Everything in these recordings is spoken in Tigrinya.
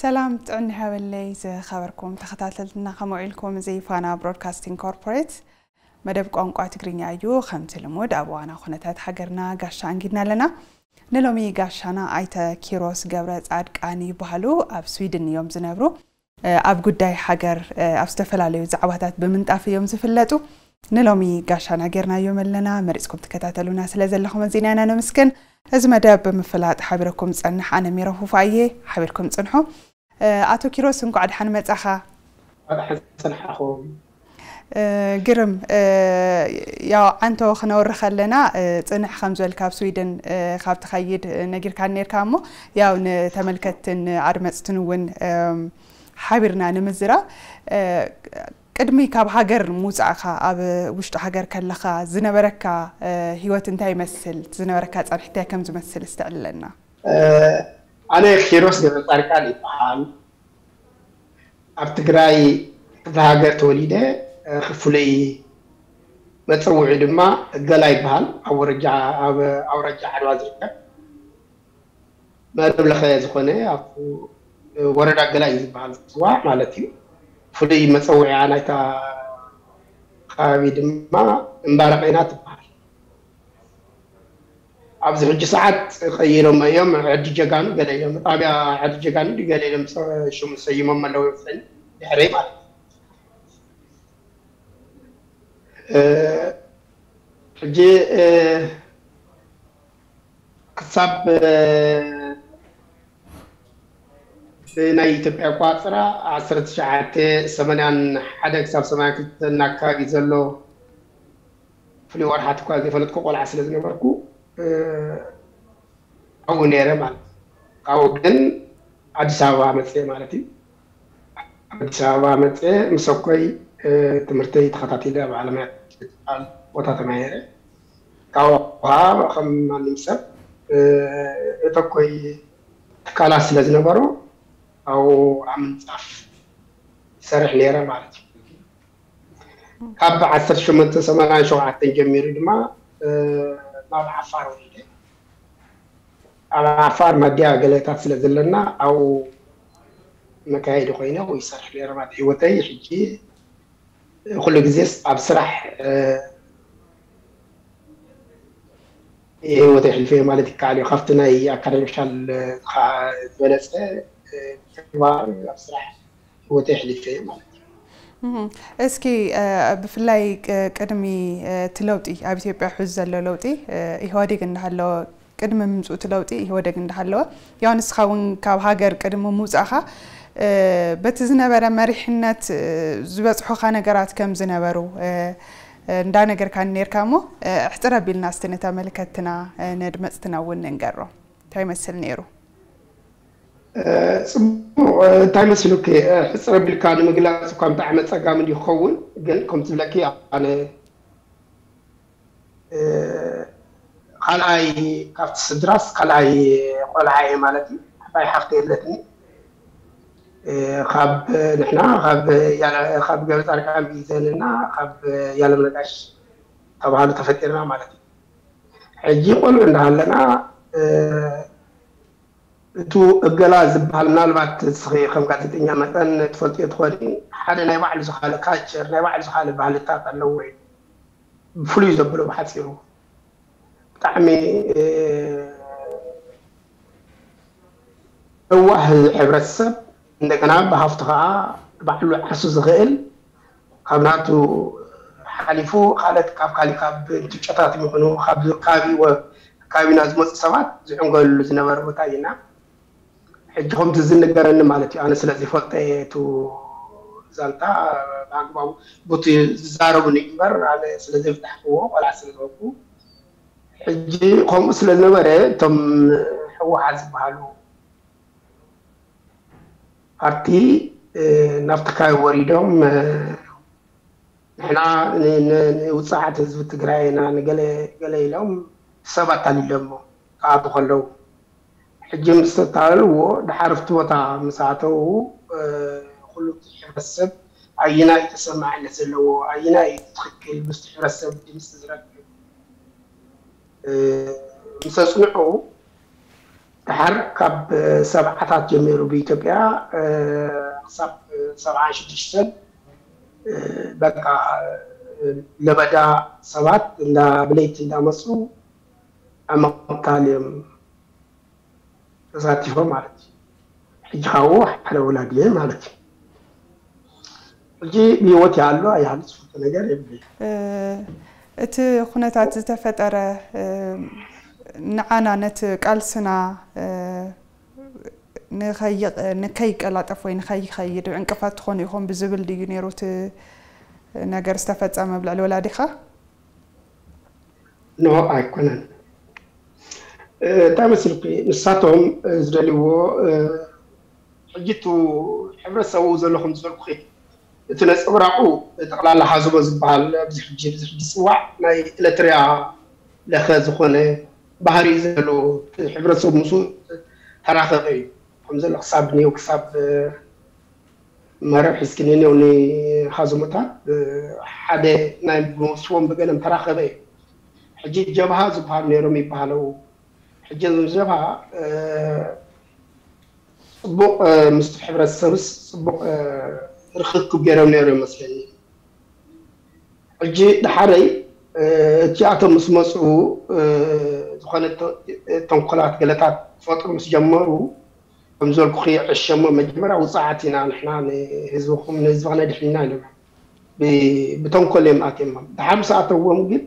ሰላም ጥዕና ይሃበለይ ዝኸበርኩም ተኸታተልትና፣ ከምኡ ኢልኩም እዚ ፋና ብሮድካስቲንግ ኮርፖሬት መደብ ቋንቋ ትግርኛ እዩ። ከምቲ ልሙድ ኣብ እዋና ኩነታት ሃገርና ጋሻ ኣንጊድና ኣለና። ንሎሚ ጋሻና ኣይተ ኪሮስ ገብረ ጻድቃን ይበሃሉ። ኣብ ስዊድን እዮም ዝነብሩ። ኣብ ጉዳይ ሃገር ኣብ ዝተፈላለዩ ዛዕባታት ብምንጣፍ እዮም ዝፍለጡ። ንሎሚ ጋሻና ጌርናዮም ኣለና። መሪፅኩም ትከታተሉና ስለ ዘለኹም ኣዚና ኢና ነመስግን። እዚ መደብ ብምፍላጥ ሓቢረኩም ዝፀንሕ ኣነ ሜሮ ፉፋ እየ። ሓቢርኩም ፅንሑ። ኣቶ ኪሮስ እንኳዕ ደሓን መፃኻ። ደሓን ፀንሓኹም። ግርም። ያው ዓንቶ ክነውሪ ከለና ፅንሕ ከም ዝበልካ ኣብ ስዊድን ካብ ትኸይድ ነጊርካ ነርካ እሞ ያው ንተመልከትትን ኣድመፅትን እውን ሓቢርና ንምዝራብ ቅድሚ ካብ ሃገር ምውፃእካ ኣብ ውሽጢ ሃገር ከለካ ዝነበረካ ህይወት እንታይ ይመስል? ዝነበረካ ፃንሒት እንታይ ከም ዝመስል እስቲ ዕልለና። ኣነ ኪሮስ ገብረፃድቃን ይበሃል። ኣብ ትግራይ ክፍለ ሃገር ተወሊደ። ፍሉይ መፀውዒ ድማ ገላ ይበሃል። ኣብ ወረጃ ኣብ ኣውራጃ ዓድዋ ዝርከብ መረብ ለኸ ዝኾነ ኣብ ወረዳ ገላ እዩ ዝበሃል ዝፅዋዕ ማለት እዩ። ፍሉይ መፀውዒያ ናይታ ከባቢ ድማ እምባረቐይና ትበሃል። ኣብዚ ሕጂ ሰዓት ቀይሮም እዮም። ዕዲ ጀጋኑ ገለ ኢሎም ጣብያ ዕዲ ጀጋኑ ድዩ ገለ ኢሎም ሽሙ ሰይሞም ኣለዉ ይመስለኒ ድሕረይ ማለት እዩ። ሕጂ ክሳብ ብናይ ኢትዮጵያ ኣቋፅራ ዓሰርተ ትሽዓተ ሰማንያን ሓደ ክሳብ ሰማንያን ክልተን ኣካባቢ ዘሎ ፍሉይ ወርሓት እኳ ዘይፈለጥኩ ቆልዓ ስለ ዝነበርኩ ኣብኡ ነይረ ማለት እዩ። ካብኡ ግን ኣዲስ ኣበባ መፅየ ማለት እዩ። ኣዲስ ኣበባ መፅየ ምስ ኣኮይ ትምህርተይ ተኸታቲለ ኣብ ዓለማያ ትበሃል ቦታ ተማሂረ። ካብኡ ከዓ ከም ማንም ሰብ እቲ ኣኮይ ትካላት ስለ ዝነበሮ ኣብኡ ኣብ ምንፃፍ ይሰርሕ ነይረ ማለት እዩ። ካብ ዓሰርተ ሸሞንተ ሰማንያን ሸውዓተን ጀሚሩ ድማ ናብ ዓፋር ወሪደ። ኣብ ዓፋር ማድያ ገለታት ስለ ዘለና ኣብኡ መካየዲ ኮይነ ይሰርሕ ነይረ ማለት ህይወተይ። ሕጂ ኩሉ ግዜስ ኣብ ስራሕ ህይወተይ ኣሕሊፈ ማለት ይከኣል እዩ። ካብቲ ናይ ኣካዳሚሻል ዝበለፀ ተግባር ኣብ ስራሕ ህይወተይ ኣሕሊፈ ማለት እዩ። እስኪ ብፍላይ ቅድሚ እቲ ለውጢ ኣብ ኢትዮጵያ ሕዚ ዘሎ ለውጢ ኢህወዴግ እንዳሃለወ ቅድሚ ምምፅኡ እቲ ለውጢ ኢህወደግ እንዳሃለወ ያው ንስኻ እውን ካብ ሃገር ቅድሚ ምውፃእኻ በቲ ዝነበረ መሪሕነት ዝበፅሑኻ ነገራት ከም ዝነበሩ እንዳነገርካኒ ነርካ እሞ ኣሕፅር ኣቢልና እስቲ ንተመልከትና ነድመፅትና እውን ንንገሮ እንታይ ይመስል ነይሩ? ፅቡቕ እንታይ መሲሉኪ ሕፅር ኣቢልካ ንምግላፅ እኳ ብጣዕሚ ኣፀጋሚ እንዲ ክኸውን ግን ከምቲ ዝብለኪ ኣነ ካልኣይ ካብቲ ስድራስ ካልኣይ ቆልዓ እየ ማለት እዩ። ዓባይ ሓፍቲ የለትኒ። ካብ ንሕና ካብ ገበፃርቃን ቢዘን እና ካብ ያለምነጋሽ ተባሃሉ ተፈጢርና ማለት እዩ። ሕጂ ቆልዑ እንዳሃለና እቱ እገላ ዝበሃል ምናልባት እስኺ ከም ጋዜጠኛ መጠን ትፈልጥዮ ትኾኒ ሓደ ናይ ባዕሉ ዝኻለ ካልቸር ናይ ባዕሉ ዝኻለ ባህልታት ኣለዎ እዩ። ብፍሉይ ዘብሎ ብሓፂሩ ብጣዕሚ ለዋህ ሕብረተሰብ እንደገና ብሃፍቱ ከዓ ባዕሉ ዓርሱ ዝኽእል ካብ ናቱ ሓሊፉ ካልኦት ካብ ካሊ ካብ ጭጨታት ይኹኑ ካብ ከባቢ ከባቢና ዝመፁ ሰባት ዝዕንገሉሉ ዝነበረ ቦታ እዩ እና ሕጂ ከምቲ ዝንገረኒ ማለት እዩ ኣነ ስለ ዘይፈልጦ እየ እቲ ዛንታ ብኣግባቡ ቡቲ ዝዛረቡኒ እምበር ኣነ ስለ ዘይፍታሕክዎ ቆልዓ ስለ ዝበልኩ ሕጂ ከምኡ ስለ ዝነበረ እቶም ህወሓት ዝበሃሉ ፓርቲ ናብ ትካይ ወሪዶም ንሕና ንውፅዓት ህዝቢ ትግራይ ኢና ንገለ ገለ ኢሎም ሰብ ኣታሊሎሞ ክኣቱ ከለዉ ሕጂ ምስ ተታለልዎ ድሓር ኣብቲ ቦታ ምስ ኣተዉ ኩሉ እቲ ሕብረተሰብ ኣየናይ ተሰማዕነት ዘለዎ ኣየናይ እዩ ትኽክል ምስቲ ሕብረተሰብ ድምፂ ዝረክብ ምስ ኣፅንዑ ድሓር ካብ ሰብዓታት ጀሚሩ ብኢትዮጵያ ክሳብ ሰብዓ ሽዱሽተን በቃ ለበዳ ሰባት እንዳ ብለይቲ እንዳመፁ ኣብ ምቕታል እዮም ተሳቲፎም ማለት እዩ። ሕጂ ካብኡ ሓደ ወላዲ እየ ማለት እዩ። ሕጂ ብህይወት ይሃሉ ኣይሃሉ ዝፈልጦ ነገር የብለይ። እቲ ኩነታት ዝተፈጠረ ንዓና ነቲ ቃልስና ንከይቀላጠፍ ወይ ንከይኸይድ ዕንቅፋት ትኾኑ ኢኹም ብዝብል ድዩ ነይሩ እቲ ነገር ዝተፈፀመ ኣብ ልዕሊ ወላዲኻ? ኖ ኣይኮነን። እንታይ መስልኩ ንሳቶም ዝደልይዎ ሕጂ እቲ ሕብረተሰቡ ዘሎ ከም ዝበልኩ እቲ ነፀብራቑ ጠቕላላ ሃዘቦ ዝበሃል ኣብዚ ሕጂ እዚ ሕጂ ዝፅዋዕ ናይ ኤለትርያ ለኸ ዝኾነ ባህሪ ዘሎ ሕብረተሰቡ ምስ ተራኸበ እዩ ከም ዘሎ ክሳብ ኒው ክሳብ መረብ ሒዝክኒ ኒው ንሃዘሞታት ሓደ ናይ ምስዎም ብገለም ተራኸበ እዩ። ሕጂ ጀብሃ ዝበሃል ነይሮም ይበሃለው። ሕጂ ጀብሃ ፅቡቕ ምስ ሕብረተሰብስ ፅቡቕ ርክክብ ገይሮም ነይሩ ይመስለኒ። ሕጂ ድሓረይ እቲኣቶም ምስ መፅኡ ዝኾነ ተንኮላት ገለታት ክፈጥሩ ምስ ጀመሩ ከም ዝበልኩ ዕሸሞ መጀመርያ ውፅዓት ኢና ንሕና ንህዝብኹም ንህዝብና ድሕንና ኢሎም ብተንኮል እዮም ኣትዮም። ድሓር ምስ ኣተዎም ግን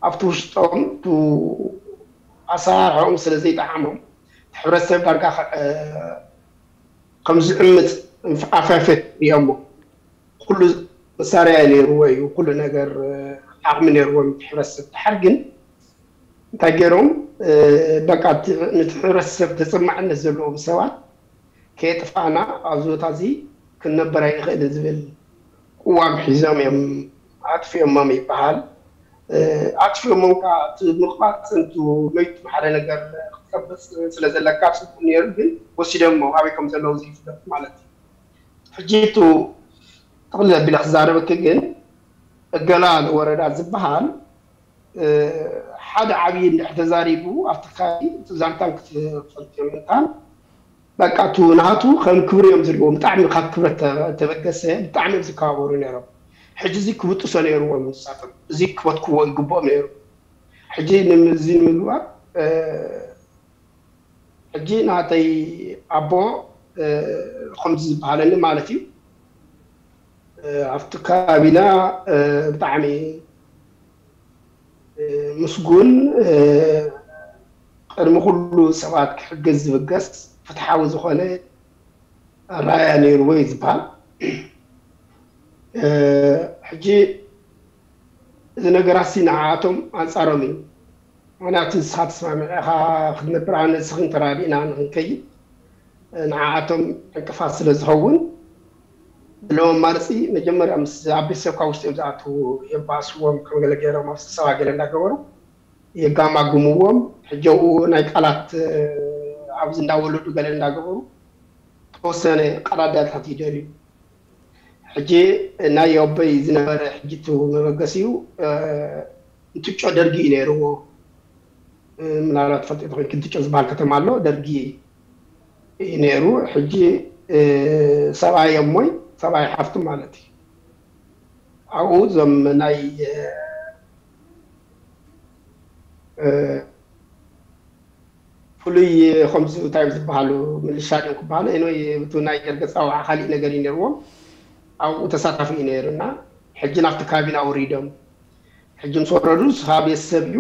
ኣብቲ ውሽጦም ኣሰራርሖም ስለ ዘይጠዓሞም ሕብረተሰብ ዳርጋ ከም ዝዕምፅ ኣፋፈት ሪኦሞ ኩሉ መሳርያ ነይርዎ እዩ። ኩሉ ነገር ዓቕሚ ነይርዎም ሕብረተሰብ ድሓር ግን እንታይ ገይሮም በቃ ነቲ ሕብረተሰብ ተፀማዕነት ዘለዎም ሰባት ከየጥፋእና ኣብዚ ቦታ እዚ ክንነበር ኣይንኽእልን ዝብል ቅዋም ሒዞም እዮም ኣጥፊኦሞም ይበሃል። ኣጥፊኦሞም ከዓ እቲ ምቕባፅ እንቱ መይቱ ሓደ ነገር ክትቀብፅ ስለ ዘለካ ፅቡቅ ነይሩ ግን ወሲዶሞ ኣበይ ከም ዘለዉ ዘይፍለጥ ማለት እዩ። ሕጂ እቱ ጥቕልል ኣቢለ ክዛረበኪ ግን እገላ ንወረዳ ዝበሃል ሓደ ዓብዪ እንድሕር ተዛሪቡ ኣብቲ ከባቢ እቲ ዛንታን ክትፈልጥ እዮም እንታን በቃ እቱ ናቱ ከም ክብሪ እዮም ዝሪእዎም ብጣዕሚ ካብ ክብረት ተበገሰ ብጣዕሚ እዮም ዝከባበሩ ነይሮም። ሕጂ እዚ ክብጥሶ ነይርዎም ንሳቶም እዚ ክበትክዎ ይግብኦም ነይሩ። ሕጂ እዚ ንምግባር ሕጂ ናተይ ኣቦ ከምዚ ዝበሃለኒ ማለት እዩ ኣብቲ ከባቢና ብጣዕሚ ምስጉን ቅድሚ ኩሉ ሰባት ክሕግዝ ዝብገስ ፍትሓዊ ዝኾነ ኣረኣእያ ነይርዎ እዩ ዝበሃል። ሕጂ እዚ ነገራሲ ንዓኣቶም ኣንፃሮም እዩ። ምክንያቱ ንስኻ ተስማሚዕኻ ክትነብር ኣነ ንስኽን ተራዲእና ንክንከይድ ንዓኣቶም ዕንቅፋት ስለ ዝኸውን ዘለዎም ኣማርፂ መጀመርያ ምስ ኣብ ቤተሰብካ ውሽጢ እዮም ዝኣትዉ የባእስዎም ከም ገለ ገይሮም ኣብ ስብሰባ ገለ እንዳገበሩ የጋማግምዎም ሕጂ ኣብኡ ናይ ቃላት ኣብዚ እንዳወለዱ ገለ እንዳገበሩ ተወሰነ ቃላት ዳታት ይደልዩ ሕጂ ናይ ኣቦይ ዝነበረ ሕጂ እቲ መበገሲኡ እንትጮ ደርጊ እዩ ነይርዎ ምናልባት ፈልጢ ተኮይንኪ እንትጮ ዝበሃል ከተማ ኣሎ ደርጊ እዩ ነይሩ ሕጂ ሰብኣይ እሞይ ሰብኣይ ሓፍቱ ማለት እዩ ኣብኡ እዞም ናይ ፍሉይ ከምዚ እንታይ ዝበሃሉ ምልሻ ድዮም ክበሃሉ ወይ እቲ ናይ ደርገ ፃውዓ ካሊእ ነገር እዩ ነይርዎም ኣብኡ ተሳታፊ እዩ ነይሩ እና ሕጂ ናብቲ ካቢና ወሪዶም ሕጂ ምስ ወረዱ ንስኻ ቤተሰብ እዩ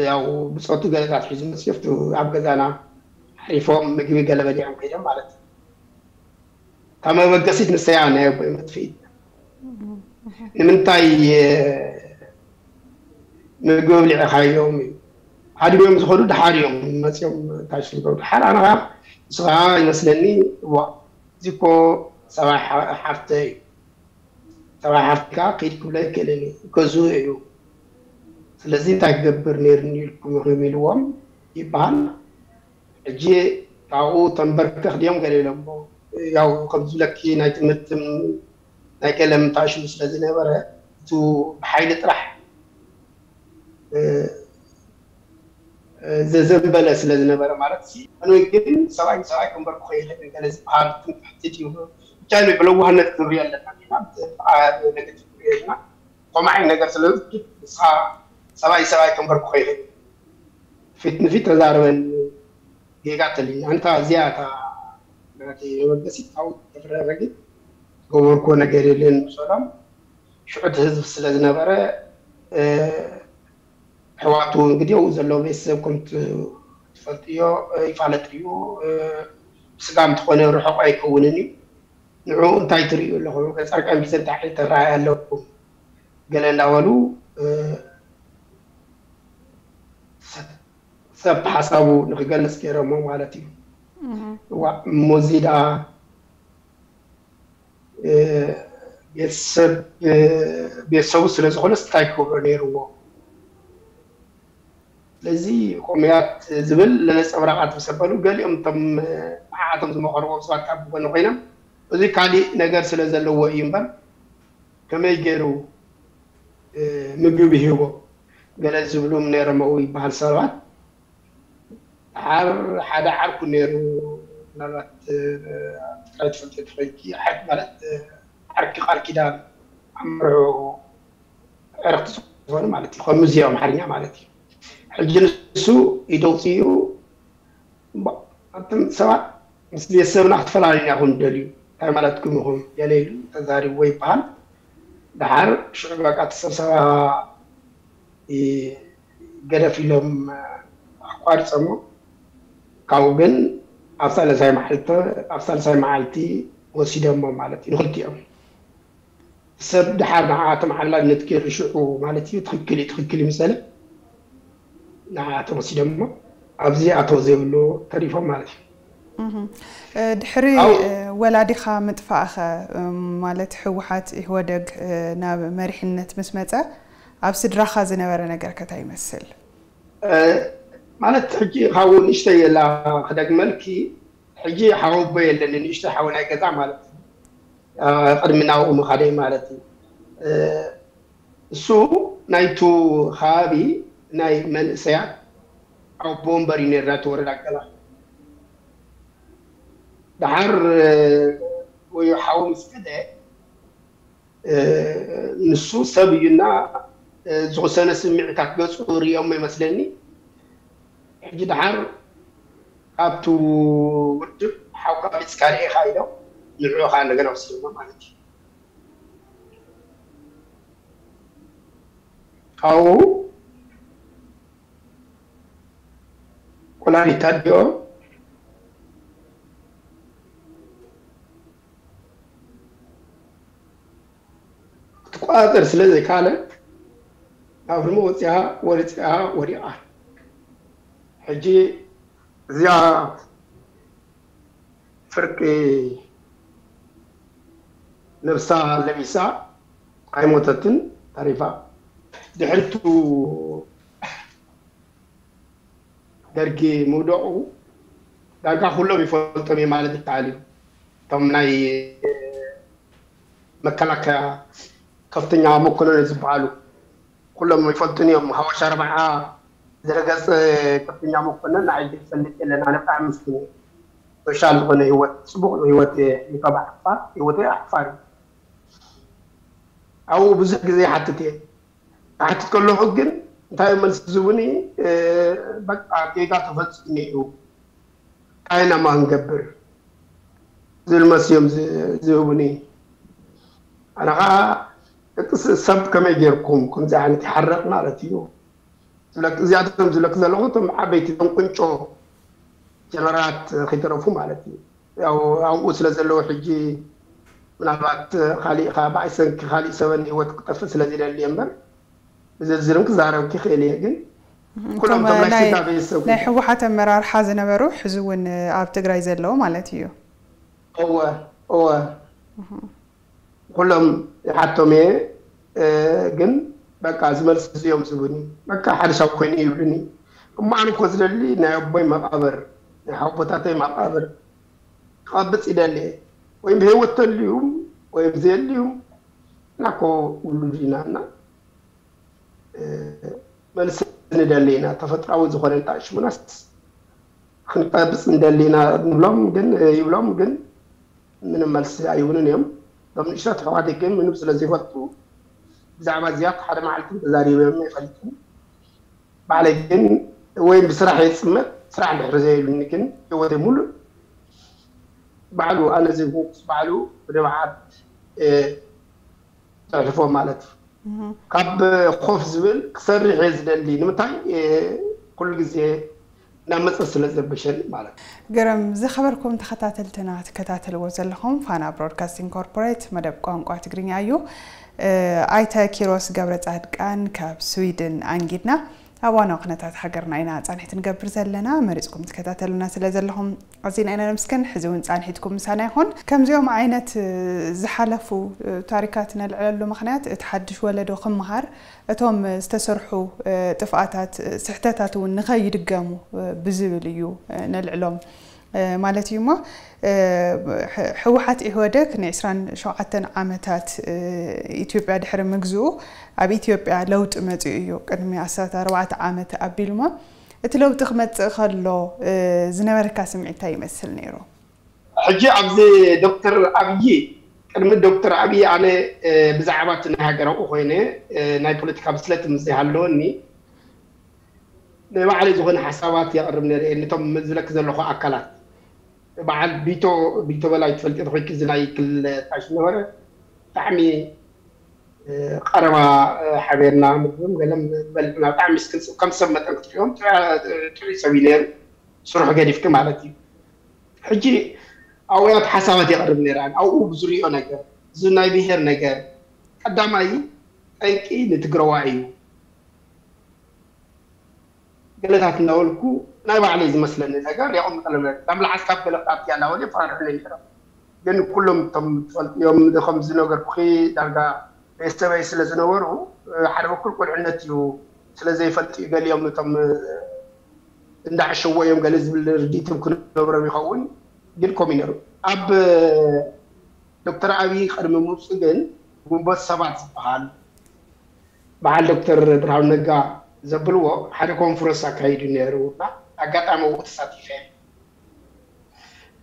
ያው ብፆቱ ገለታት ሒዙ መፅዮፍቱ ኣብ ገዛና ሓሪፎም ምግቢ ገለ በሊዖም ከይዶም ማለት እዩ ካብ መበገሲት ንሰያ ናይ ኣቦይ መጥፍኢት ንምንታይ ምግቢ ኣብሊዕኻዮም እዩ ሃዲሞም ዝኸዱ ድሓር እዮም መፅኦም እንታይ ሽልገው ድሓር ኣነ ከዓ ንስኻ ይመስለኒ ዋ እዚ እኮ ሰብኣይ ሓፍተ እዩ ሰብኣይ ሓፍቲ ከዓ ከይድ ክብሎ ይክእልን እዩ ገዝኡ እዩ ስለዚ እንታይ ክገብር ነይርኒ ኢልኩም ኢኹም ኢልዎም ይበሃል ሕጂ ካብኡ ተንበርከኽ ድዮም ገለ ኢሎሞ ያው ከም ዝብለኪ ናይ ትምህርቲ ናይ ገለ ምታሽሙ ስለ ዝነበረ እቱ ብሓይሊ ጥራሕ ዘዘንበለ ስለ ዝነበረ ማለት ሲ ኣነ ግን ሰብኣይ ሰብኣይ ክንበርኩ ከይኽእል ገለ ዝበሃል ትምክሕቲ ድዩ ብቻ ብለዋህነት ክንሪኦ ኣለና ኢና። ብነገቲቭ ክንሪኦ ኣለና። ከምኡ ዓይነት ነገር ስለ ንስኻ ሰብኣይ ሰብኣይ ክንበርኩ ከይኽእል ፊት ንፊት ተዛረበን ጌጋ ተልኝ ኣንታ እዚኣ እታ ናተይ መበገሲት ካብኡ ተፍረረ ግን ገበርኩዎ ነገር የለን ምሰሎም ሽዑ እቲ ህዝቢ ስለ ዝነበረ ኣሕዋቱ እንግዲህ ኣብኡ ዘለዉ ቤተሰብ ከም ትፈልጥዮ ይፋለጥ እዩ። ብስጋ እንተኾነ ርሑቕ ኣይከውንን እዩ። ንዕኡ እንታይ ትርእዩ ኣለኹም? ገጸ ጻድቃን ቢዘንታ ተራእየ ኣለኩም ገለ እንዳበሉ ሰብ ሓሳቡ ንክገልጽ ገይሮሞ ማለት እዩ። እዋ እሞዚ ደኣ ቤተሰብ ቤተሰቡ ስለ ዝኾነስ እንታይ ክገብሮ ነይርዎ? ስለዚ ኮሙያት ዝብል ለነፀብራቓት ምስ ኣበሉ ገሊኦም እቶም ንዓኣቶም ዝመኸርዎም ሰባት ካብ ጎኒ ኮይኖም እዚ ካሊእ ነገር ስለ ዘለዎ እዩ እምበር ከመይ ገይሩ ምግቢ ሂቦ ገለ ዝብሉ ነይሮም ኣብኡ ይበሃል ሰባት። ደሓር ሓደ ዓርኩ ነይሩ ምናልባት ትግራይ ትፈልጥ ትኾይንኪ ማለት ዓርኪ ቃል ኪዳን ኣምርዑ ዕርክቲ ዝኾኑ ማለት እዩ። ከም ሙዚየም ኣምሓርኛ ማለት እዩ። ሕጂ ንሱ ኢደውፅኡ ኣንቱም ሰባት ምስ ቤተሰብና ክትፈላለዩና ኢኹም ደልዩ እንታይ ማለትኩም ኢኹም ገለ ኢሉ ተዛሪብዎ ይበሃል። ደሓር ሽዑ በቃ ተሰብሰባ ገደፍ ኢሎም ኣቋርፀሞ ካብኡ ግን ኣብ ሳልሳይ መዓልቲ ኣብ ሳልሳይ መዓልቲ ወሲደሞ ማለት እዩ ንክልቲኦም ሰብ ደሓር ንዓኣቶም ዓላልነት ገይሩ ሽዑ ማለት እዩ ትኽክል እዩ ትኽክል እዩ ምሰለ ንዓኣቶም ወሲደሞ ኣብዚ ኣተው ዘይብሉ ተሪፎም ማለት እዩ። ድሕሪ ወላዲኻ ምጥፋእኸ ማለት ህወሓት ኢህወደግ ናብ መሪሕነት ምስ መፀ ኣብ ስድራኻ ዝነበረ ነገር ከታይ ይመስል? ማለት ሕጂ ካብኡ ንእሽተይ የላ ክደግመልኪ ሕጂ ሓወቦ የለን ንእሽተይ ሓወ ናይ ገዛ ማለት እዩ። ቅድሚ ናብኡ ምኻደይ ማለት እዩ። እሱ ናይቱ ከባቢ ናይ መንእሰያት ኣቦ ወንበር እዩ ነይሩ ናይቲ ወረዳ ገላ። ደሓር ወዮ ሓው ምስ ከደ ንሱ ሰብ እዩና ዝወሰነ ስምዒታት ገፁ ሪኦሞ ይመስለኒ። ሕጂ ደሓር ካብቲ ውድብ ሓውካ መፂካ ርኤካ ኢሎም ንዕኡ ከዓ እንደገና ወሲዶሞ ማለት እዩ። ካብኡ ኩላሊት ኣዲኦም ክትቆፃፀር ስለ ዘይካለት ናብ ህርሞ ወፂኣ ወሪፂኣ ወዲቓ። ሕጂ እዚኣ ፍርቂ ነብሳ ለቢሳ ኣይሞተትን ተሪፋ። ድሕሪቱ ደርጊ ምውደቑ ዳርጋ ኩሎም ይፈልጦም እዩ ማለት ይከኣል እዩ። እቶም ናይ መከላከያ ከፍተኛ መኮነን ዝበሃሉ ኩሎም ይፈልጡን እዮም። ሃወሽ ኣርብዓ ዝረገፀ ከፍተኛ መኮነን ንዓይ ዝፈልጥ የለን። ኣነ ብጣዕሚ ምስኪን እየ። ሶሻል ዝኾነ ህይወት ፅቡቕ ህይወት እየ። ይከባ ዓፋር ህይወተይ ዓፋር እዩ። ኣብኡ ብዙሕ ግዜ ይሓትት እየ። ክሓትት ከለኹ ግን እንታይ እዮም መልሲ ዝህቡኒ? በቃ ጌጋ ተፈፂሙ እዩ። እንታይ ኢና እማ ክንገብር ዝብል መልሲ እዮም ዝህቡኒ። ኣነ ከዓ ደቂ ሰብ ከመይ ጌርኩም ከምዚ ዓይነት ይሓርቕ ማለት እዩ ዝብለክ እዚኣቶም ዝብለክ ዘለኹ እቶም ዓበይቲ እቶም ቁንጮ ጀነራላት ከይተረፉ ማለት እዩ። ያው ኣብኡ ስለ ዘለዉ ሕጂ ምናልባት ካሊእ ከዓ ብኣይ ሰንኪ ካሊእ ሰበን ህይወት ክጠፍእ ስለ ዝደሊ እምበር ብዝርዝርም ክዛረብክ ይኽእል እየ ግን ኩሎም እቶም ናይ ስድራ ቤተሰብ ናይ ህወሓት ኣመራርሓ ዝነበሩ ሕዚ እውን ኣብ ትግራይ ዘለዉ ማለት እዩ። እወ እወ ኩሎም ይሓቶም እየ ግን በቃ እዚ መልሲ እዚኦም ዝብኒ በቃ ሓደ ሰብ ኮይኑ ይብልኒ እሞ ኣነ እኮ ዝደሊ ናይ ኣቦይ መቃብር ናይ ሓቦታተይ መቃብር ክቐብፅ ይደሊ እየ ወይም ብህይወት ተልዩም ወይም ዘየልዩም ናኮ ውሉድ ኢና እና መልሲ ንደሊ ኢና፣ ተፈጥራዊ ዝኾነ ንጣ ሽሙናስ ክንቀብፅ ንደሊ ኢና ንብሎም፣ ግን ይብሎም ግን ምንም መልሲ ኣይብሉን እዮም። እቶም ንእሽቶ ኣሕዋተይ ግን ምንም ስለ ዘይፈልጡ ብዛዕባ እዚኣ ሓደ መዓልቲ ተዛሪቦም ኣይፈልጥን። ባዕለይ ግን ወይ ብስራሕ እየ ዝፅመድ፣ ስራሕ እንድሕር ዘይብሉኒ ግን ህይወተይ ሙሉእ ባዕሉ ኣነ ዘይኮንኩስ ባዕሉ ብንብዓት እየ ዘሕልፎ ማለት እዩ። ካብ ኮፍ ዝብል ክሰርሕ እየ ዝደሊ። ንምንታይ? ኩሉ ግዜ እናመፀ ስለ ዘበሸኒ ማለት እዩ። ገረም ዝኸበርኩም ተኸታተልትና ትከታተልዎ ዘለኹም ፋና ብሮድካስቲንግ ኮርፖሬት መደብ ቋንቋ ትግርኛ እዩ። ኣይተ ኪሮስ ገብረ ጻድቃን ካብ ስዊድን ኣንጊድና ኣብ ዋናው ኩነታት ሃገርና ኢና ጻንሒት ንገብር ዘለና። መሪጽኩም ትከታተሉና ስለ ዘለኹም ኣዚና ኢና ነመስግን። ሕዚ እውን ጻንሒትኩም ምሳና ይኹን። ከምዚኦም ዓይነት ዝሓለፉ ታሪካት ነልዕለሉ ምኽንያት እቲ ሓድሽ ወለዶ ክምሃር እቶም ዝተሰርሑ ጥፍኣታት ስሕተታት እውን ንኸይድገሙ ብዝብል እዩ ነልዕሎም ማለት እዩ እሞ ህወሓት ኢህወደግ ን27 ዓመታት ኢትዮጵያ ድሕሪ ምግዝኡ ኣብ ኢትዮጵያ ለውጢ መፂኡ እዩ ቅድሚ ኣስታት ኣርባዕተ ዓመት ኣቢሉ እሞ እቲ ለውጢ ክመፅእ ከሎ ዝነበረካ ስምዒት እንታይ ይመስል ነይሩ? ሕጂ ኣብዚ ዶክተር ኣብይ ቅድሚ ዶክተር ኣብይ ኣነ ብዛዕባ እቲ ናይ ሃገር ኣብኡ ኮይነ ናይ ፖለቲካ ብስለት ምስ ዘይሃለወኒ ንባዕለይ ዝኾነ ሓሳባት የቕርብ ነረ ነቶም ዝብለክ ዘለኹ ኣካላት በዓል ቢቶ ቢቶ በላይ ትፈልጥ ተኮይክ እዚ ናይ ክልል ታሽ ነበረ ብጣዕሚ ቀረባ ሓቤርና ምግብም ገለም በልዕና ብጣዕሚ ከም ሰብ መጠን ክትሪኦም ጥዑይ ሰብ እዩ ነሩ ስርሑ ገዲፍክ ማለት እዩ ሕጂ ኣብያት ሓሳባት የቕርብ ነረ ኣብኡ ብዙሪኦ ነገር እዚ ናይ ብሄር ነገር ቀዳማይ ጠንቂ ንትግረዋ እዩ ገለታት እናበልኩ ናይ ባዕለይ ዝመስለኒ ነገር የቐምጠለለ ካብ ለዓል ካብ ገለ ፓርቲ ኣናበለ ይፈራርሑኒ ነይሮም ግን ኩሎም እቶም ትፈልጥዮም ከም ዝነገርኩኺ ዳርጋ ቤተሰበይ ስለ ዝነበሩ ሓደ በኩል ቁልዕነት እዩ ስለ ዘይፈልጥ እዩ ገሊኦም እቶም እንዳዕሸዎ እዮም ገለ ዝብል ርዲትም ክነብሮም ይኸውን ግን ከምኡ ነሩ ኣብ ዶክተር ኣብይ ቅድሚ ምውፁ ግን ግንቦት ሰባት ዝበሃል በዓል ዶክተር ብርሃኑ ነጋ ዘብልዎ ሓደ ኮንፈረንስ ኣካይዱ ነይሩ እና ኣጋጣሚ ኣብኡ ተሳቲፈ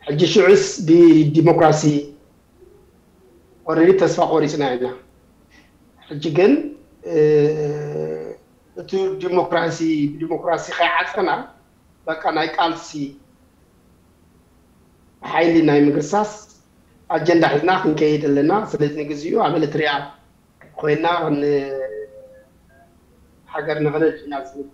ሕጂ ሽዑስ ብዲሞክራሲ ኦረዲ ተስፋ ቆሪፅና ኢና ሕጂ ግን እቲ ዲሞክራሲ ብዲሞክራሲ ከይዓፀና በቃ ናይ ቃልሲ ሓይሊ ናይ ምግርሳስ ኣጀንዳ ሒዝና ክንከይድ ኣለና ስለዚ ንግዚኡ ኣብ ኤርትሪያ ኮይና ሃገር ንኽነድ ኢና ዝብል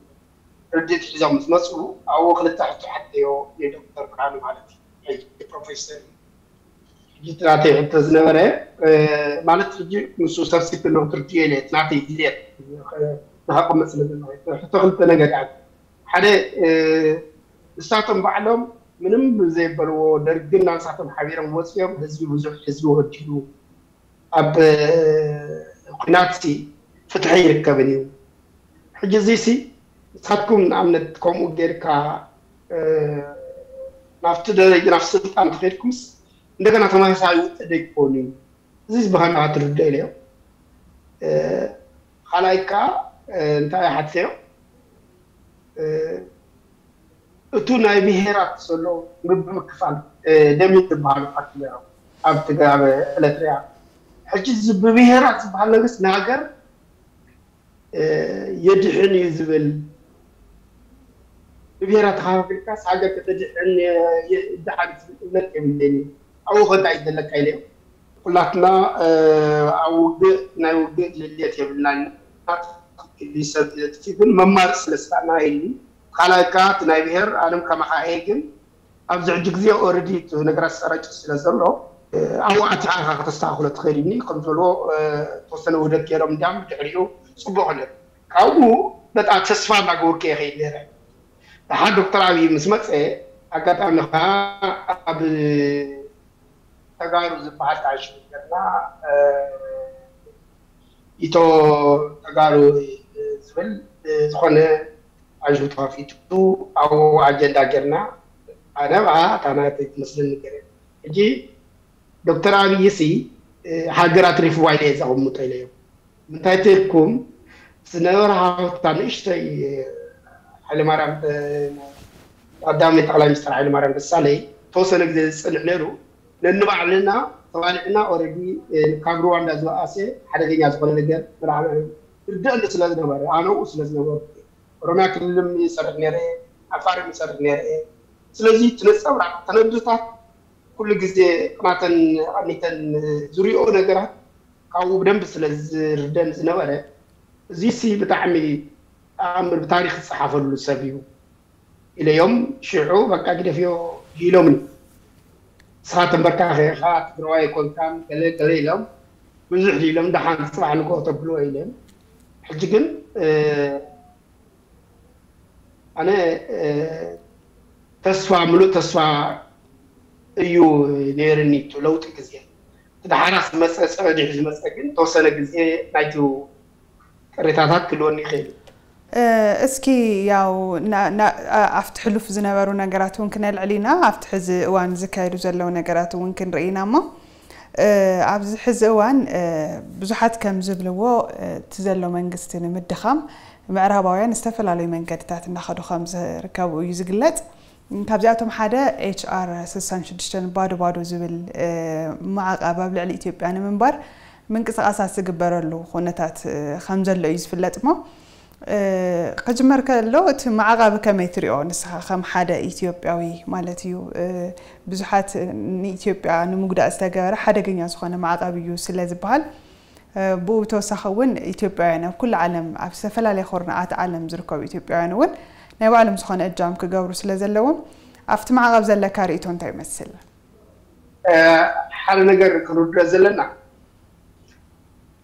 ርድት ሒዞም ምስ መፁ ኣብኡ ክልተ ሕቶ ሓተዮ ንዶክተር ብርሃኑ ማለት እዩ ፕሮፌሰር እዩ ሕጂ ናተይ ሕቶ ዝነበረ ማለት ሕጂ ምስ ሰብሲብ ክትርድዮ ኢለ ናተይ ድልየት ንኸቕምጥ ስለ ዘለኹ ሕቶ ክልተ ነገር እያ ሓደ ንሳቶም ባዕሎም ምንም ብዘይበልዎ ደርግን ናንሳቶም ሓቢሮም ወፅዮም ህዝቢ ብዙሕ ህዝቢ ወዲሉ ኣብ ኩናት ፍትሒ ይርከብን እዩ ሕጂ እዚሲ ንሳትኩም ንኣብነት ከምኡ ጌርካ ናብቲ ደረጃ ናብ ስልጣን ተኸድኩምስ እንደገና ተመሳሳሊ ውጥእ ደይኮኑ እዩ እዚ ብኸምኣ ትርድኦ ኢለዮ ካልኣይ ከዓ እንታይ ሓትዮ እቱ ናይ ብሄራት ዘሎ ምብምክፋል ደሚ ዝበሃሉ ፓርቲ ነሮም ኣብ ትግራይ ኤለትሪያ ሕጂ ብብሄራት ዝበሃል መንግስት ንሃገር የድሕን እዩ ዝብል ብብሄራት ተኸፋፊልካስ ሃገር ከተድሕን ይድሓን ዝብል እምነት የብለኒ ኣብኡ ከንታ እዩ ዘለካ ኢለ ኩላትና ኣብ ውግእ ናይ ውግእ ድልየት የብልናን ግን መማርፅ ስለ ስጣና ኢልኒ ካልኣይ ከዓ እቲ ናይ ብሄር ኣለም ከማካ እየ ግን ኣብዚ ሕጂ ግዜ ኦረዲ እቲ ነገራት ሰራጭ ስለ ዘሎ ኣብኡ ኣቲኻ ኢኻ ከተስተካክሎ ትኽእል እኒ ከም ዝበልዎ ተወሰነ ውህደት ገይሮም እንዲያም ድሕሪኡ ፅቡቅ ክልል ካብኡ በጣ ተስፋ እናገበርኩ እየ ከይድ ነረ ደሓር ዶክተር ኣብይ ምስ መፀ ኣጋጣሚ ከዓ ኣብ ተጋሩ ዝበሃል ተኣሽሙ ገርና ኢቶ ተጋሩ ዝብል ዝኾነ ኣንሹ ተኸፊቱ ኣብኡ ኣጀንዳ ጌርና ኣነ ብኣ እታ ናተይ ትመስለኒ ገረ ሕጂ ዶክተር ኣብይ ሲ ሃገር ኣትሪፍዋ ኢለ እየ ዘቐምጦ ኢለዮም ምንታይ ተልኩም ዝነበረ ሃብታ ንእሽተይ ሃይለማርያም ቀዳማይ ጠቅላይ ሚኒስትር ሃይለማርያም ደሳለይ ተወሰነ ግዜ ዝፅንሕ ነይሩ። ነንባዕልና ተባሊዕና ኦረዲ ካብ ሩዋንዳ ዝበኣሰ ሓደገኛ ዝኾነ ነገር ርደአኒ ስለ ዝነበረ ኣነኡ ስለ ዝነበርኩ ኦሮሚያ ክልልም ይሰርሕ ነይረ፣ ዓፋርም ይሰርሕ ነይረ። ስለዚ እቲ ነፀብራቅ ተነድታት ኩሉ ግዜ ቅናተን ኣኒተን ዝሪኦ ነገራት ካብኡ ብደንብ ስለ ዝርደን ዝነበረ እዚ ሲ ብጣዕሚ ተኣምር ብታሪክ ዝፀሓፈሉ ሰብ እዩ ኢለዮም። ሽዑ በቃ ግደፍዮ ኢሎምኒ። ንስኻ ተንበርካኺ ኢኻ ትግራዋይ ኣይኮንካን ገለ ገለ ኢሎም ብዙሕ ኢሎም ደሓን ፅባሕ ንግሆ ተብልዎ ኢሎም። ሕጂ ግን ኣነ ተስፋ ምሉእ ተስፋ እዩ ነይርኒ እቲ ለውጢ ግዜ። እቲ ደሓራ ዝመፀ ፀበዲሑ ዝመፀ ግን ተወሰነ ግዜ ናይቲ ቅሬታታት ክልወኒ ይኽእል እዩ። እስኪ ያው ኣብቲ ሕሉፍ ዝነበሩ ነገራት እውን ክነልዕል ኢና። ኣብቲ ሕዚ እዋን ዝካየዱ ዘለዉ ነገራት እውን ክንርኢ ኢና እሞ ኣብዚ ሕዚ እዋን ብዙሓት ከም ዝብልዎ እቲ ዘሎ መንግስቲ ንምድኻም ምዕራባውያን ዝተፈላለዩ መንገድታት እናኸዱ ከም ዝርከቡ እዩ ዝግለፅ። ካብዚኣቶም ሓደ ኤች ኣር ስሳን ሽዱሽተን ባዶ ባዶ ዝብል ማዕቐብ ኣብ ልዕሊ ኢትዮጵያ ንምንባር ምንቅስቃሳት ዝግበረሉ ኩነታት ከም ዘሎ እዩ ዝፍለጥ እሞ ክጅመር ከሎ እቲ ማዕቐብ ከመይ ትሪኦ ንስኻ ከም ሓደ ኢትዮጵያዊ ማለት እዩ? ብዙሓት ንኢትዮጵያ ንምጉዳእ ዝተገበረ ሓደገኛ ዝኾነ ማዕቐብ እዩ ስለ ዝበሃል ብኡ ብተወሳኺ እውን ኢትዮጵያውያን ኣብ ኩሉ ዓለም ኣብ ዝተፈላለየ ኮርናዓት ዓለም ዝርከቡ ኢትዮጵያውያን እውን ናይ ባዕሎም ዝኾነ እጃም ክገብሩ ስለ ዘለዎም ኣብቲ ማዕቐብ ዘለካ ርእይቶ እንታይ ይመስል? ሓደ ነገር ክንርድኦ ዘለና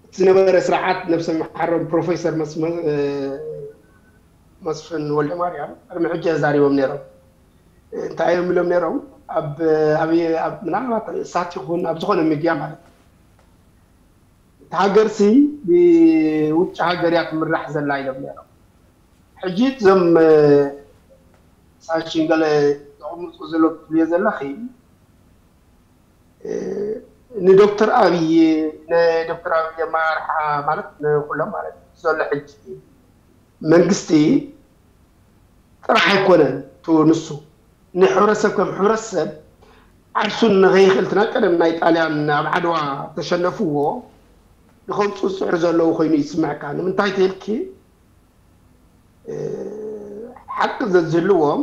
እቲ ዝነበረ ስርዓት ነብሰ መሓሮም ፕሮፌሰር መስፍን ወልደ ማርያም ቅድሚ ሕጂ ኣዛሪቦም ነይሮም። እንታይ እዮም ኢሎም ነይሮም? ኣብ ምናልባት ሳት ይኹን ኣብ ዝኾነ ሚድያ ማለት እዩ። እቲ ሃገርሲ ብውጭ ሃገር እያ ትምራሕ ዘላ ኢሎም ነይሮም። ሕጂ እዞም ሳንሽን ገለ ዘቕምፁ ዘሎ ትብልዮ ዘለኺ ንዶክተር ኣብይ ንዶክተር ኣብይ ኣመራርሓ ማለት ንኩሎም ማለት ዘሎ ሕጂ መንግስቲ ጥራሕ ኣይኮነን ቱ ንሱ ንሕብረተሰብ ከም ሕብረተሰብ ዓርሱን ንኸይኽእል እቲ ናይ ቀደም ናይ ጣልያን ኣብ ዓድዋ ተሸነፍዎ ንኸምፁ ዝፅዕሩ ዘለዉ ኮይኑ ይስምዐካ ንምንታይ ተልኪ ሓቂ ዘዝህልዎም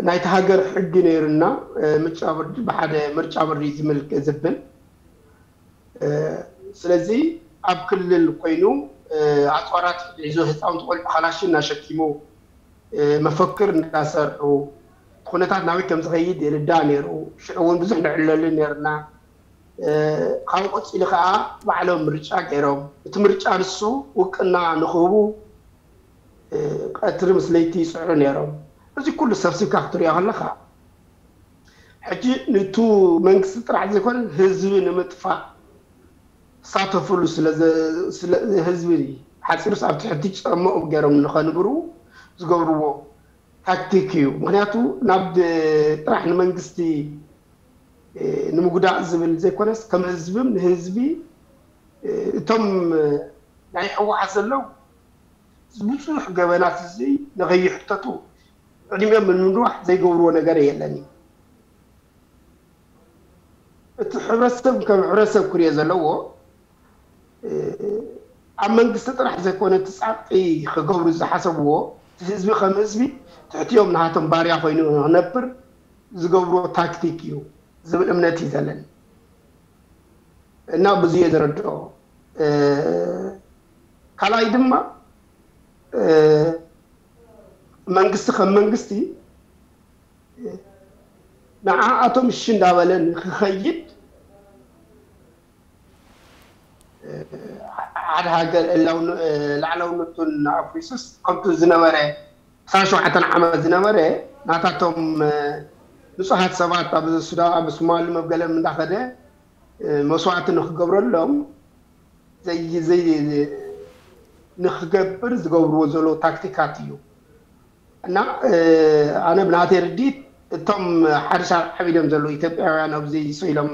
ናይቲ ሃገር ሕጊ ነይርና ምርጫ ቦርድ ብሓደ ምርጫ ቦርድ ዝምልክ ዝብል ስለዚ ኣብ ክልል ኮይኑ ኣፅዋራት ሒዙ ህፃውንቲ ቆልዑ ካላሽን እናሸኪሙ መፈክር እንዳሰርሑ ኩነታት ናበይ ከም ዝኸይድ ይርዳእ ነይሩ። ሽዑ እውን ብዙሕ ንዕለሉ ነርና። ካብኡ ቀፂሉ ከዓ ባዕሎም ምርጫ ገይሮም እቲ ምርጫ ንሱ ውቅና ንክህቡ ቀትሪ ምስ ለይቲ ይፅዕሩ ነይሮም። እዚ ኩሉ ሰብሲብካ ክትሪኦ ከለካ ሕጂ ንቱ መንግስቲ ጥራሕ ዘይኮነ ህዝቢ ንምጥፋእ ዝሳተፍሉ ህዝቢ ሓፂሩስ ኣብ ትሕቲ ጨሞኦም ገይሮም ንኸንብሩ ዝገብርዎ ታክቲክ እዩ። ምክንያቱ ናብ ጥራሕ ንመንግስቲ ንምጉዳእ ዝብል ዘይኮነስ ከም ህዝብም ንህዝቢ እቶም ናይ ህወሓት ዘለዉ ብዙሕ ገበናት እዚ ንኸይሕተቱ ዕድሚኦም ንምንዋሕ ዘይገብርዎ ነገር የለን እዩ። እቲ ሕብረተሰብ ከም ሕብረተሰብ ክሪኦ ዘለዎ ኣብ መንግስቲ ጥራሕ ዘይኮነ እቲ ፃቕጢ ክገብሩ ዝሓሰብዎ እቲ ህዝቢ ከም ህዝቢ ትሕቲኦም ንሃቶም ባርያ ኮይኑ ክነብር ዝገብርዎ ታክቲክ እዩ ዝብል እምነት እዩ ዘለኒ እና ብዙ እየ ዝረድኦ። ካልኣይ ድማ መንግስቲ ከም መንግስቲ ንዓኣቶም እሺ እንዳበለ ንክኸይድ ሓደ ሃገር ላዕላውነቱን ኣፍሪሱስ ከምቲ ዝነበረ ዕስራን ሸውዓተን ዓመት ዝነበረ ናታቶም ንፁሃት ሰባት ኣብ ሱዳን ኣብ ሶማሊ መብገለም እንዳኸደ መስዋዕቲ ንክገብረሎም ንክገብር ዝገብርዎ ዘለዉ ታክቲካት እዩ እና ኣነ ብናተይ ርዲት እቶም ሓድሽ ዓቢዶም ዘለዉ ኢትዮጵያውያን ኣብዚ ሰው ኢሎም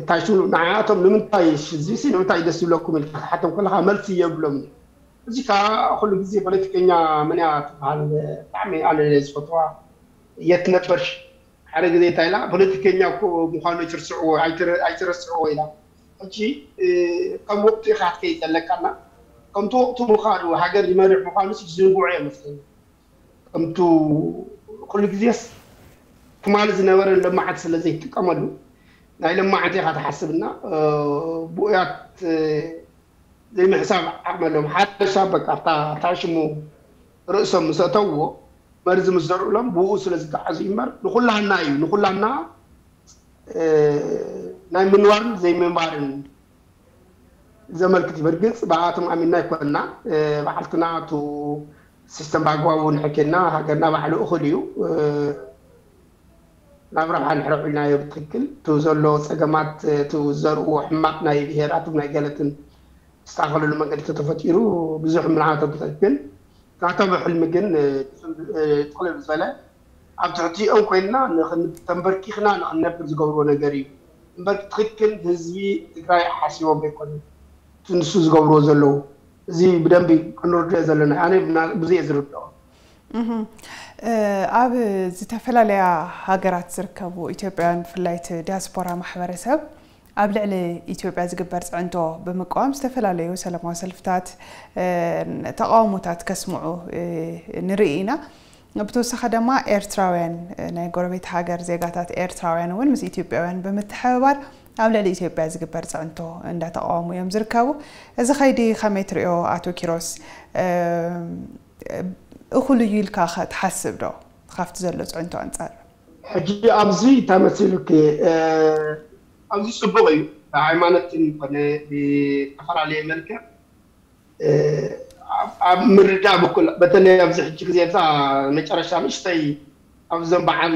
ታሹ ንዓቶም ንምንታይ እዚሲ ንምንታይ ደስ ይብለኩም ኢልካ ክትሓቶም ከለካ መልሲ የብሎም። እዚ ከዓ ኩሉ ግዜ ፖለቲከኛ መን እያ ትበሃል? ብጣዕሚ ኣነ ዝፈትዋ የት ነበርሽ ሓደ ግዜ እንታይ ኢላ፣ ፖለቲከኛ እኮ ምዃኑ ኣይትርስዕዎ፣ ኣይትረ- ኣይትረስዕዎ ኢላ። ሕጂ ከም ወቅቱ ኢኻ ክትከይድ ዘለካና፣ ከምቲ ወቅቱ ምዃኑ፣ ሃገር ዝመርሕ ምዃኑ ዝዝንግዑ እዮም መስለኒ። ከምቱ ኩሉ ግዜስ ትማሊ ዝነበረ ለማዓት ስለ ዘይትጥቀመሉ ናይ ለማዓት ኢኻ ትሓስብና። ብኡያት ዘይምሕሳብ ዓቕሚ ኣለዎም። ሓደ ሰብ በቃ ኣብታ ሽሙ ርእሶም ምስ ኣተውዎ መርዚ ምስ ዘርእሎም ብኡ ስለ ዝገዓዙ እዩ እምበር ንኩላህና እዩ ንኩላህና ናይ ምንባርን ዘይምንባርን ዘመልክት እዩ። በርግፅ ብኣቶም ኣሚንና ኣይኮንና። ባዕልትና እቲ ሲስተም ብኣግባቡ ንሕኬና ሃገርና ባዕሉ እኹል እዩ። ናብ ረብሓ ንሕረቑ ኢልናዮ ብትክክል። እቲ ዘሎ ፀገማት እቲ ዘርእዎ ሕማቕ ናይ ብሄራትን ናይ ገለትን ዝስተኻኸለሉ መንገዲ ተተፈጢሩ ብዙሕ ምልዓተ ግን ናቶም ሕልሚ ግን ጥቕልል ዝበለ ኣብ ትሕቲኦም ኮይንና ተንበርኪኽና ንክንነብር ዝገብርዎ ነገር እዩ እምበር ትክክል ህዝቢ ትግራይ ሓሲቦም ኣይኮነን ንሱ ዝገብርዎ ዘለዉ። እዚ ብደንቢ ክንርድኦ ዘለና ኣነ ብዙ እየ ዝርድኦ። ኣብ ዝተፈላለያ ሃገራት ዝርከቡ ኢትዮጵያውያን ብፍላይ እቲ ዲያስፖራ ማሕበረሰብ ኣብ ልዕሊ ኢትዮጵያ ዝግበር ፅዕንቶ ብምቅዋም ዝተፈላለዩ ሰላማዊ ሰልፍታት ተቃውሞታት ከስምዑ ንርኢ ኢና። ብተወሳኺ ድማ ኤርትራውያን ናይ ጎረቤት ሃገር ዜጋታት ኤርትራውያን እውን ምስ ኢትዮጵያውያን ብምትሕብባር ኣብ ልዕሊ ኢትዮጵያ ዝግበር ፅዕንቶ እንዳተቃወሙ እዮም ዝርከቡ። እዚ ከይዲ ከመይ ትሪኦ ኣቶ ኪሮስ? እኹል እዩ ኢልካ ትሓስብ ዶ ካብቲ ዘሎ ፅዕንቶ ኣንፃር? ሕጂ ኣብዚ እንታይ መሲሉኪ ኣብዚ ፅቡቅ እዩ ብሃይማኖትን ኮነ ብዝተፈላለየ መልክዕ ኣብ ምርዳእ በኩል በተለይ ኣብዚ ሕጂ ግዜ እዛ መጨረሻ ንእሽተይ ኣብዞም በዓል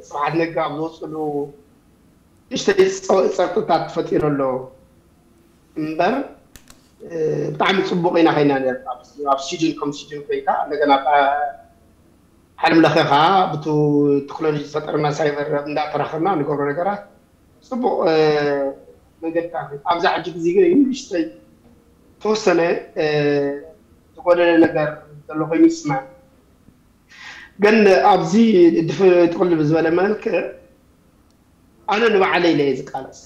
ስብሓት ነጋ ኣብ ዝወፅሉ ንእሽተይ ፀጥታት ተፈጢሩ ኣሎ እምበር ብጣዕሚ ፅቡቅ ኢና ኮይና ነርና ኣብ ስዊድን ከም ስዊድን ኮይንካ እንደገና ዓለም ለኸ ከዓ ብቲ ቴክኖሎጂ ዝፈጠረና ሳይበር እንዳተራኸብና ንገብሮ ነገራት ፅቡቅ መንገድታት ኣብዛ ሕጂ ግዜ ግን ንእሽተይ ተወሰነ ዝጎደለ ነገር ዘሎ ኮይኑ ይስማዕ ግን ኣብዚ ጥቅልል ብዝበለ መልክዕ ኣነ ንባዕለይ ኢለ እየ ዝቃለስ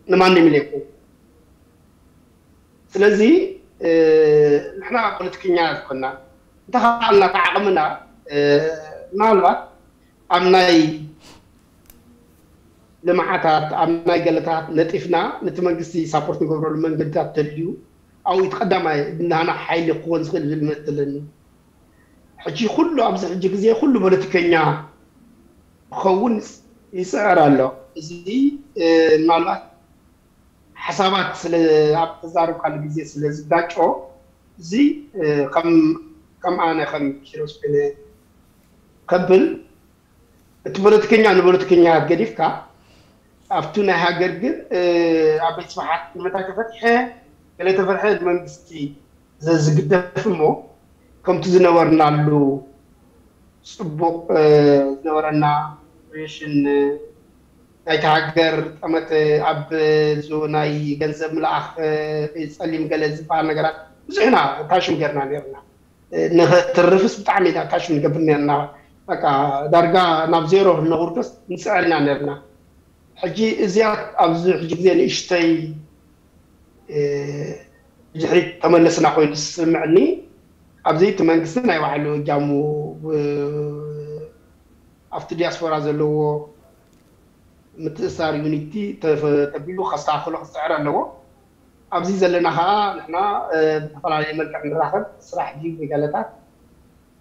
ንማንም ኢለ ይኮን ስለዚ ንሕና ፖለቲከኛ ዝኾንና እንተኸኣልና ተዓቕምና ምናልባት ኣብ ናይ ልምዓታት ኣብ ናይ ገለታት ነጢፍና ነቲ መንግስቲ ሳፖርት ንገብረሉ መንገድታት ተልዩ ኣብኡ እቲ ቀዳማይ ናና ሓይሊ ክኾን ዝኽእል ዝብል እምነት ኣለኒ ሕጂ ኩሉ ኣብዚ ሕጂ ግዜ ኩሉ ፖለቲከኛ ክኸውን ይፅዕር ኣሎ እዚ ምናልባት ሓሳባት ስለ ኣብ ተዛረብካሉ ግዜ ስለ ዝጋጮ እዚ ከም ኣነ ከም ኪሮስ ኮይነ ከብል እቲ ፖለቲከኛ ንፖለቲከኛ ገዲፍካ ኣብቲ ናይ ሃገር ግን ኣብ ቤት ስብሓት ንምንታይ ተፈትሐ ገለ ተፈትሐ መንግስቲ ዘዝግደፍ እሞ ከምቲ ዝነበርናሉ ፅቡቅ ዝነበረና ሬሽን ናይቲ ሃገር ጠመተ ኣብ ናይ ገንዘብ ምልኣኽ ጸሊም ገለ ዝበሃል ነገራት ብዙሕና ታሽም ገርና ነርና ንክትርፍስ ብጣዕሚ ኢና ታሽም ንገብር ነርና በቃ ዳርጋ ናብ ዜሮ ነውርዶስ ንፅዕር ኢና ነርና ሕጂ እዚኣ ኣብዚ ሕጂ ግዜ ንእሽተይ ድሕሪት ተመለስና ኮይኑ ዝስምዕኒ ኣብዚ እቲ መንግስቲ ናይ ባዕሉ እጃሙ ኣብቲ ዲያስፖራ ዘለዎ ምትእሳር ዩኒቲ ተቢሉ ከስተካክሎ ክፅዕር ኣለዎ ኣብዚ ዘለና ከዓ ንሕና ብዝተፈላለየ መልክዕ ንራኸብ ስራሕ ድዩ ገለታት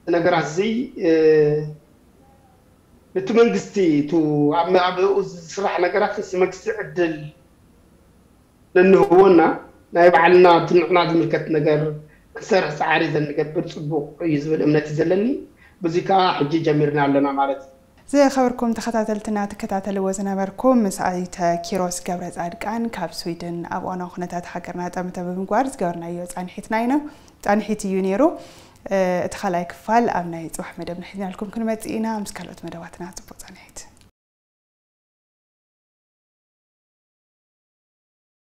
ነገራት እዚ ነቲ መንግስቲ ኣብኡ ዝስራሕ ነገራት ምስ መንግስቲ ዕድል ነንህቦና ናይ ባዕልና እቲ ንዕና ዝምልከት ነገር ክንሰርሕ ፃዕሪ ዘንገብር ፅቡቅ እዩ ዝብል እምነት እዩ ዘለኒ። በዚ ከዓ ሕጂ ጀሚርና ኣለና ማለት እዩ። ዝኸበርኩም ተኸታተልትና ትከታተልዎ ዝነበርኩም ምስ ኣይተ ኪሮስ ገብረ ፃድቃን ካብ ስዊድን ኣብ እዋናዊ ኩነታት ሃገርና ጠምተ ብምግባር ዝገበርናዮ ፃንሒትና ኢና። ፃንሒት እዩ ነይሩ። እቲ ካልኣይ ክፋል ኣብ ናይ ፅባሕ መደብና ሒዝናልኩም ክንመፅእ ኢና። ምስ ካልኦት መደባትና ፅቡቅ ፃንሒት።